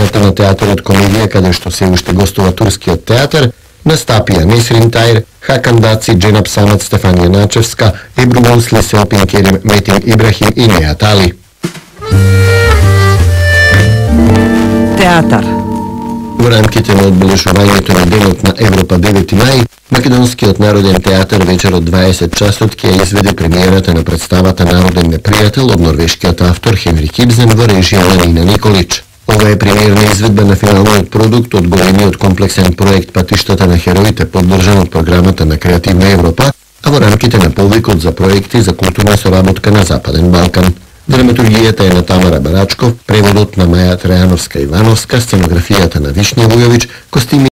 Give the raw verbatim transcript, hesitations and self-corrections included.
сцената на театарот Комедија, каде што се уште гостува турскиот театар, настапија Несрин Тајр, Хакан Даци, Дженап Самат, Стефанија Начевска, Ебру Мусли, Селпин Керим, Метин Ибрахим и Нејат Али. Театар. Во рамките на одбележувањето на денот на Европа девети мај, Македонскиот народен театар вечер од дваесет часот ќе изведе премиерата на представата Народен непријател од норвешкиот автор Хенрик Ибсен во режија на Нина Николич. Ова е премиерна изведба на финалниот продукт од големиот комплексен проект Патиштата на хероите, поддржан од програмата на Креативна Европа, а во рамките на повикот за проекти за културна соработка на Западен Балкан. Драматургијата е на Тамара Барачков, преводот на Маја Трајановска Ивановска, сценографијата на Вишња Вујовиќ, костими